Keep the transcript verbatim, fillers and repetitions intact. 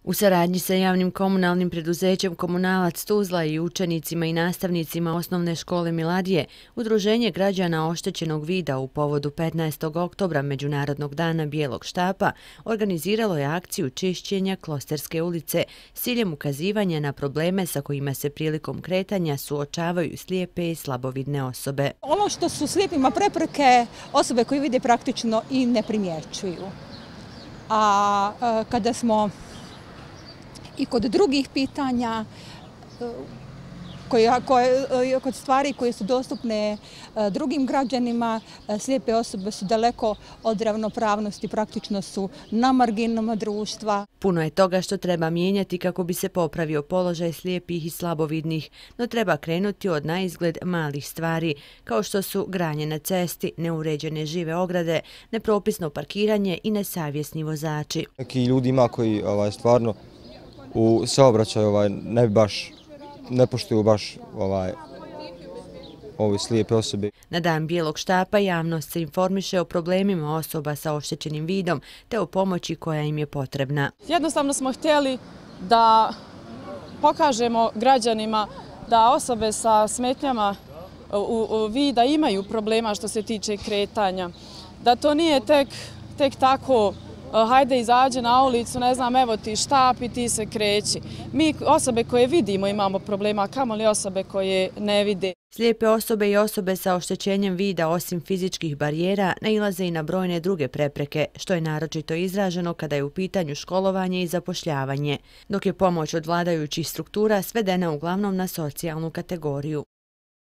U saradnji sa javnim komunalnim preduzećem Komunalac Tuzla i učenicima i nastavnicima osnovne škole Miladije, Udruženje građana oštećenog vida u povodu petnaestog oktobra Međunarodnog dana bijelog štapa organiziralo je akciju čišćenja Klosterske ulice s ciljem ukazivanja na probleme sa kojima se prilikom kretanja suočavaju slijepe i slabovidne osobe. Ono što su slijepima prepreke, osobe koje vide praktično i ne primjećuju. A kada smo i kod drugih pitanja, koje, koje, kod stvari koje su dostupne drugim građanima, slijepe osobe su daleko od ravnopravnosti, praktično su na marginama društva. Puno je toga što treba mijenjati kako bi se popravio položaj slijepih i slabovidnih, no treba krenuti od naizgled malih stvari, kao što su granje na cesti, neuređene žive ograde, nepropisno parkiranje i nesavjesni vozači. Neki ljudi ima koji ovaj, stvarno u saobraćaju ovaj, ne baš, ne poštuju baš ovaj, ove slijepe osobe. Na dan bijelog štapa javnost se informiše o problemima osoba sa oštećenim vidom te o pomoći koja im je potrebna. Jednostavno smo htjeli da pokažemo građanima da osobe sa smetnjama u, u vida imaju problema što se tiče kretanja. Da to nije tek, tek tako hajde izađe na ulicu, ne znam, evo ti štap i ti se kreći. Mi osobe koje vidimo imamo problema, a kamoli osobe koje ne vide. Slijepe osobe i osobe sa oštećenjem vida osim fizičkih barijera nailaze i na brojne druge prepreke, što je naročito izraženo kada je u pitanju školovanje i zapošljavanje, dok je pomoć od vladajućih struktura svedena uglavnom na socijalnu kategoriju.